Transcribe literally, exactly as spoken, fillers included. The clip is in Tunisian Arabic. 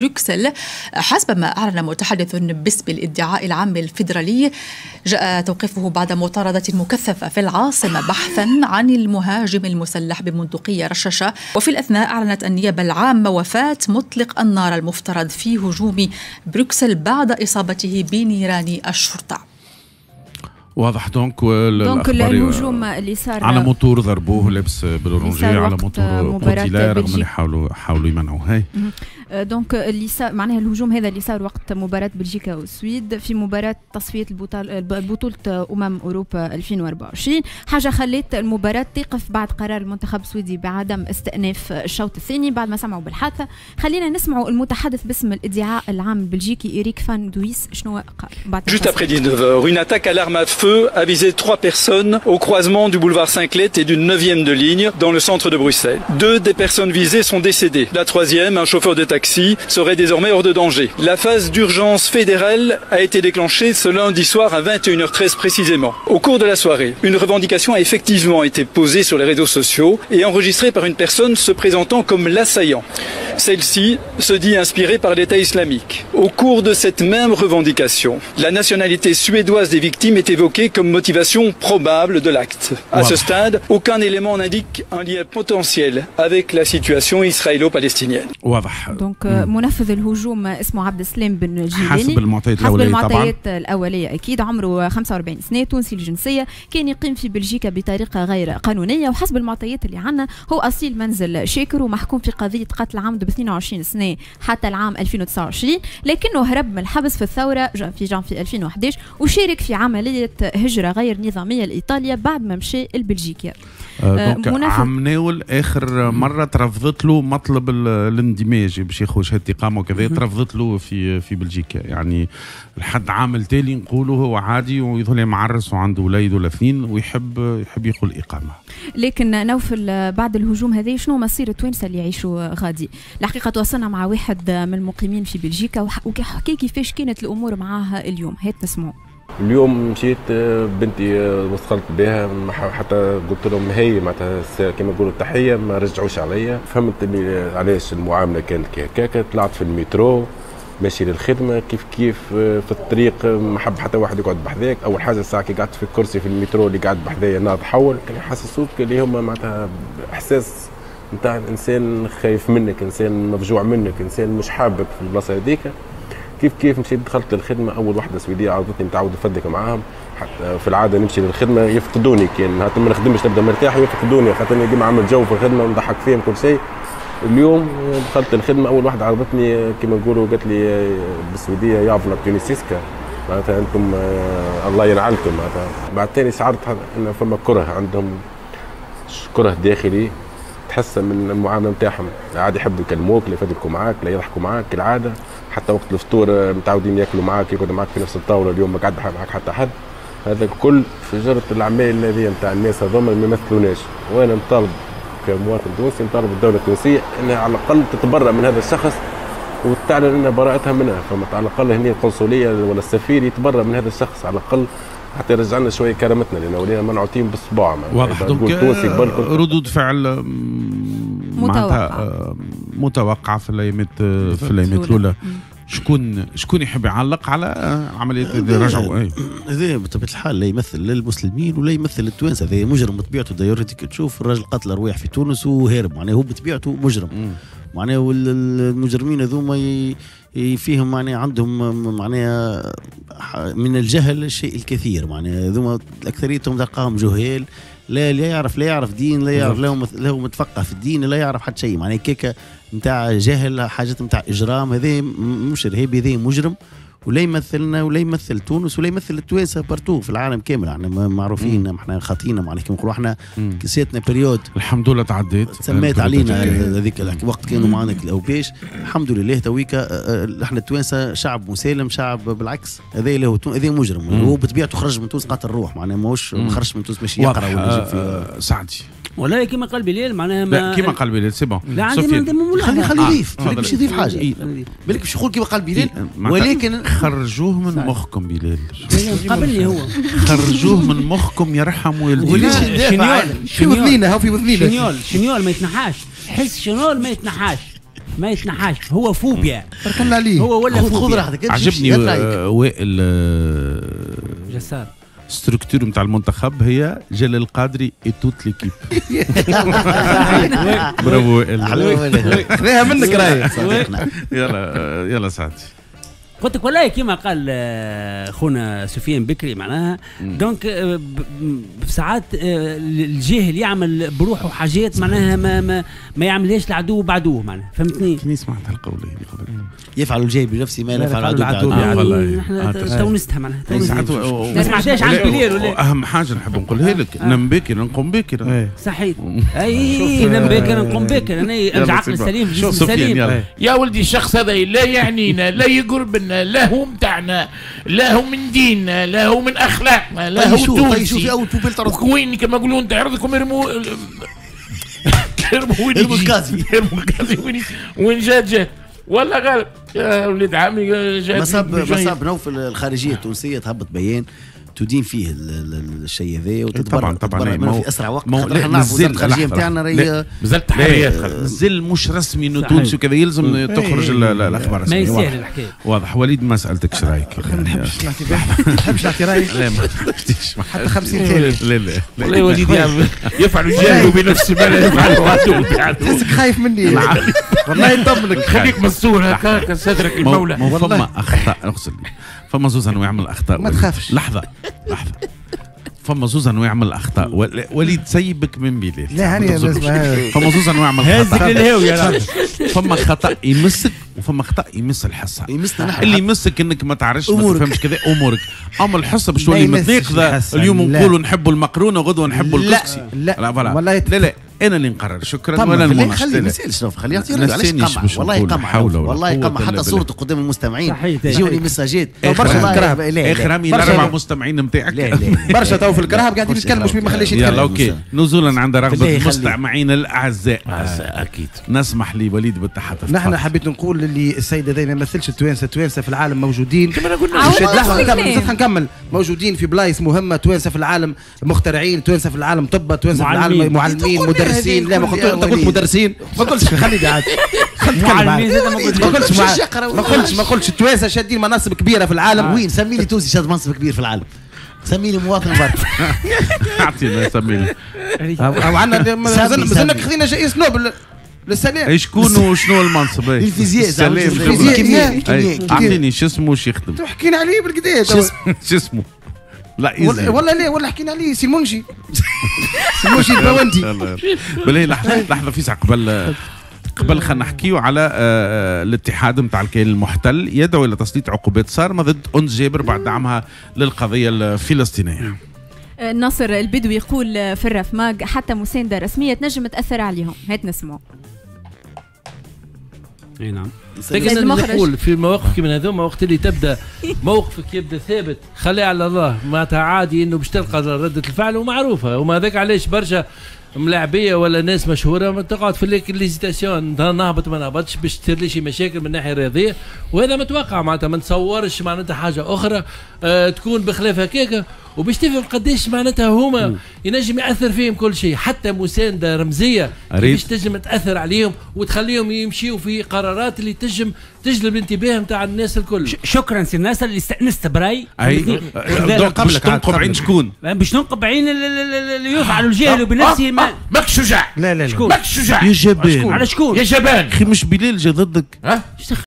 بروكسل، حسب ما أعلن متحدث باسم الادعاء العام الفيدرالي. جاء توقيفه بعد مطاردة مكثفة في العاصمة بحثا عن المهاجم المسلح ببندقية رشاشة. وفي الأثناء أعلنت النيابة العامة وفاة مطلق النار المفترض في هجوم بروكسل بعد إصابته بنيران الشرطة. واضح. donc donc الهجوم اللي صار على موتور ضربوه لابس بال orangé على موتور قتيلة، رغم اللي حاولوا حاولوا يمنعوه. هاي donc اللي صار معناها الهجوم هذا اللي صار وقت مباراة بلجيكا والسويد في مباراة تصفية بطولة أمم أوروبا ألفين وأربعة وعشرين، حاجة خلت المباراة تقف بعد قرار المنتخب السويدي بعدم استئناف الشوط الثاني بعد ما سمعوا بالحادثة. خلينا نسمعوا المتحدث باسم الادعاء العام البلجيكي إريك فان دويس شنو قال بعد. Juste après dix-neuf heures, une attaque à l'arme à feu a visé trois personnes au croisement du boulevard Saint-Clet et d'une neuvième de ligne dans le centre de Bruxelles. Deux des personnes visées sont décédées. La troisième, un chauffeur de taxi, serait désormais hors de danger. La phase d'urgence fédérale a été déclenchée ce lundi soir à vingt et une heures treize précisément. Au cours de la soirée, une revendication a effectivement été posée sur les réseaux sociaux et enregistrée par une personne se présentant comme l'assaillant. Celle-ci se dit inspirée par l'État islamique. Au cours de cette même revendication, la nationalité suédoise des victimes est évoquée comme motivation probable de l'acte. À ce stade, aucun élément n'indique un lien potentiel avec la situation israélo-palestinienne. واضح. donc منفذ الهجوم اسمه عبد السلام بن جيلاني حسب المعطيات حسب الأولية، المعطيات طبعا الأولية أكيد، عمره خمسة وأربعين سنة، تونسي الجنسية، كان يقيم في بلجيكا بطريقة غير قانونية، وحسب المعطيات اللي عندنا هو أصيل منزل شاكر ومحكوم في قضية قتل عمد ب اثنين وعشرين سنة حتى العام ألفين وتسعة وعشرين، لكنه هرب من الحبس في الثورة في جانفي ألفين وأحد عشر وشارك في عملية هجرة غير نظامية لإيطاليا بعد ما مشى لبلجيكا. آه donc عمناول اخر مرة ترفضت له مطلب الاندماج باش ياخذ شهادة اقامه وكذا، ترفضت له في في بلجيكا. يعني لحد عام التالي نقولوا هو عادي ويظل معرس وعنده وليد ولا اثنين ويحب يحب ياخذ الاقامة. لكن نوفل بعد الهجوم هذا شنو مصير التوانسة اللي يعيشوا غادي؟ الحقيقة تواصلنا مع واحد من المقيمين في بلجيكا وحكي كيفاش كانت الامور معاه اليوم، هات نسمعوا. اليوم مشيت بنتي وصلت بها، حتى قلت لهم هي معناتها كما يقولوا التحية، ما رجعوش عليا. فهمت اللي علاش المعاملة كانت هكاك. طلعت في المترو ماشي للخدمة كيف كيف في الطريق ما حب حتى واحد يقعد بحذاك. اول حاجة الساعة كي قعدت في الكرسي في المترو اللي قعد بحذايا ناض حول، كان يحسسوك اللي هما معناتها احساس نتاع انسان خايف منك، انسان مفجوع منك، انسان مش حابك في البلاصة هذيك. كيف كيف مشيت دخلت للخدمة، اول واحدة سويديه عرضتني متعود نفدك معاهم، حتى في العادة نمشي للخدمة يفقدوني، كان حتى ما نخدمش نبدا مرتاح يفقدوني، خاطرني ديما عامل جو في الخدمة ونضحك فيهم كل شيء. اليوم دخلت الخدمة اول واحدة عرضتني كما نقولوا قالت لي بالسويديه jävla tunisiska، معناتها انتم الله ينعلكم. معناتها بعد ثاني شعرت ان فما كره عندهم، كره داخلي تحس من المعاملة نتاعهم، عاد يحبوا يكلموك، لا يفدلكوا معاك، لا يضحكوا معاك كالعادة، حتى وقت الفطور متعودين ياكلوا معاك، يقعدوا معاك في نفس الطاولة، اليوم ما قعد معاك حتى حد. هذا الكل في جرة العمال هذه نتاع الناس هذوما ما يمثلوناش. وانا نطالب كمواطن تونسي، نطالب الدولة التونسية انها على الاقل تتبرأ من هذا الشخص وتعلن ان براءتها منها، فما على الاقل هنا القنصليه ولا السفير يتبرأ من هذا الشخص على الاقل حتى يرجع لنا شوية كرامتنا، لان ولينا منعوتين بالصباع. واضح. donc ردود فعل متوقعه متوقعه في الايامات في الايامات الاولى. شكون شكون يحب يعلق على عملية رجعوا؟ هذا بطبيعة الحال لا يمثل لا المسلمين ولا يمثل التوانسة، هذا مجرم بطبيعته. d'ailleurs تشوف الراجل قتل ارواح في تونس وهارب، معناه هو بطبيعته مجرم. معناه المجرمين هذوما فيهم معناه عندهم معناه من الجهل الشيء الكثير، معناه هذوما اكثريتهم تلقاهم جهال، لا لا يعرف لا يعرف دين، لا يعرف لا هو متفقه في الدين، لا يعرف حتى شيء، معناه كيكة نتاع جهل، حاجات نتاع اجرام. هذا مش ارهابي، هذا مجرم، ولا يمثلنا ولا يمثل تونس ولا يمثل التوانسة partout في العالم كامل. احنا معروفين، احنا خاطينا، معناها كيما نقولوا احنا ساتنا période الحمد لله تعديت، سميت علينا هذيك الوقت كانوا معنا الاوباش، الحمد لله تويكا احنا التوانسة شعب مسالم، شعب بالعكس. هذا اللي هو هذا مجرم، هو بطبيعته خرج من تونس قاتل الروح، معناها ماهوش ما خرجش من تونس باش يقرا ولا يجيب في سعدي ولا كيما قال بلال، معناها ما كيما قال بلال c'est bon. لا عندي خلي خلي يضيف، بالك باش يضيف حاجة، بالك باش يقول كيما قال بلال، ولكن خرجوه من مخكم بلال، قبلني هو خرجوه من مخكم يرحم والديك. شنيول في وذنينا، هو في وذنينا شنيول، شنيول ما يتنحاش، حس شنيول ما يتنحاش. ما يتنحاش، هو فوبيا. بارك الله عليه، هو ولا فوبيا. خذ راحتك. عجبني وائل جسار. structure نتاع المنتخب هي جلال القادري et toute l'équipe. برافو وائل، خذاها منك راهي. يلا يلا سعدي. قلت لك والله كما قال خونا سفيان بكري معناها donc ساعات الجاهل يعمل بروحه حاجات معناها ما ما, ما يعملهاش العدو بعدوه معناها، فهمتني؟ كني سمعت هالقول هذه قبل. يفعل الجاهل بنفسه ما لا يفعل العدو بعدوه. نحن تونستها معناها، ما سمعتهاش عند بليل ولا. اهم حاجة نحب نقولها لك، نم بكر نقوم بكر. صحيح، اي نم بكر نقوم بكر، انا العقل السليم الجسم السليم. يا ولدي الشخص هذا لا يعنينا، لا يقرب لنا، لا هو متاعنا، لا هو من ديننا، لا هو من اخلاقنا، لا هو تونسي. وين كما يقولون تعرضكم يرموا يرموا وين الكازي، يرموا الكازي وين وين جات جات ولا غالب يا وليد عمي جات. مصاب مصاب نوفل الخارجية التونسية تهبط بيان تدين فيه الشيء هذا وتتبرع طبعا طبعا في اسرع وقت. خاطر احنا نعرفوا وزارة الخارجية نتاعنا راهي مازالت تحريات، مازال مش رسمي انه تونسي وكذا، يلزم تخرج الاخبار الرسمية. ما يسهل الحكاية. واضح. وليد ما سالتكش رايك. ما نحبش نعطي ما نحبش نعطي رايي. لا ما تحبش حتى خمسين ثانية. لا لا والله وليد يفعل الجاهل بنفسه ما لا يفعل العدو. تحسك خايف مني والله. نطمنك، خليك مستور هكاك سترك المولى. فما اخطاء، اغسل فما زوز انواع من الاخطاء. ما تخافش. لحظة لحظة، فما زوز انواع من الاخطاء. وليد سيبك من بلال. لا هاني، فما زوز انواع من الخطا. فما خطا يمسك وفما خطا يمس الحصة. يمسنا نحن. اللي يمسك انك ما تعرفش ما تفهمش كذا امورك، اما الحصة باش تولي متناقضة. اليوم نقولوا نحبوا المقرونه وغدوه نحبوا الكسكسي. لا لا والله لا لا، انا اللي نقرر. شكرا. ولا المناقشة. خلي ما يسالش، خليه يعطي رايه. علاش قمع؟ والله قمع، والله قمع. حتى صورته قدام المستمعين يجوني ميساجات برشا في الكرهب. اخر همي الاربع مستمعين نتاعك. برشا تو في الكرهب قاعدين يتكلموا مش ما خليش يتكلم. يلا OK، نزولا عند رغبة المستمعين الاعزاء. اكيد نسمح لوليد بالتحدث. نحن حبيت نقول اللي السيد هذا ما يمثلش التوانسة. التوانسة في العالم موجودين. لحظة نكمل نكمل. موجودين في بلايص مهمة. توانسة في العالم مخترعين، توانسة في العالم طب، توانسة في العالم معلمين، مدرسين. لا ما قلت، انت قلت مدرسين. ما قلتش، خليني عاد ما قلتش ما قلتش ما قلتش التوانسة شادين مناصب كبيرة في العالم. وين؟ سمي لي تونسي شاد منصب كبير في العالم. سمي لي مواطن برك. اعطينا سمي لي. او عندنا مازلنا خذينا جائزة نوبل للسلام. شكون وشنو المنصب؟ الفيزياء. الفيزياء. اعطيني شو اسمه وش يخدم. حكينا عليه بالكدا. شو اسمه؟ لا ولا, ولا لا ولا حكينا عليه سي منجي. سي منجي الباوندي. بالله لحظة لحظة فيسع قبل قبل خلينا نحكيو على الاتحاد نتاع الكيان المحتل يدعو الى تسليط عقوبات صارمة ضد أنس جابر بعد دعمها للقضية الفلسطينية. ناصر البدوي يقول في الرفماج حتى مساندة رسمية تنجم تاثر عليهم. هات نسمعوا. اي نعم. لكن نقول في مواقف كيما هذوما وقت اللي تبدا موقفك يبدا ثابت خليه على الله، معناتها عادي انه باش تلقى ردة الفعل ومعروفة. وما هذاك علاش برشا ملاعبيه ولا ناس مشهورة ما تقعد في l'hésitation، نهبط ما نهبطش باش تصير لي شي مشاكل من الناحية الرياضية، وهذا متوقع معناتها ما نتصورش معناتها حاجة اخرى آه تكون بخلاف هكاك. وباش تفهم قداش معناتها هما ينجم ياثر فيهم كل شيء، حتى مساندة رمزية باش تنجم تاثر عليهم وتخليهم يمشيوا في قرارات اللي تنجم تجلب الانتباه نتاع الناس الكل. شكرا سي ناصر اللي استانست براي. اي باش تنقب عين شكون؟ باش ننقب عين اللي يفعل الجهل بنفسه. ما ماكش شجاع. لا لا لا ماكش شجاع يا جبان. على شكون؟ يا جبان. اخي مش بلال جا ضدك؟ ها؟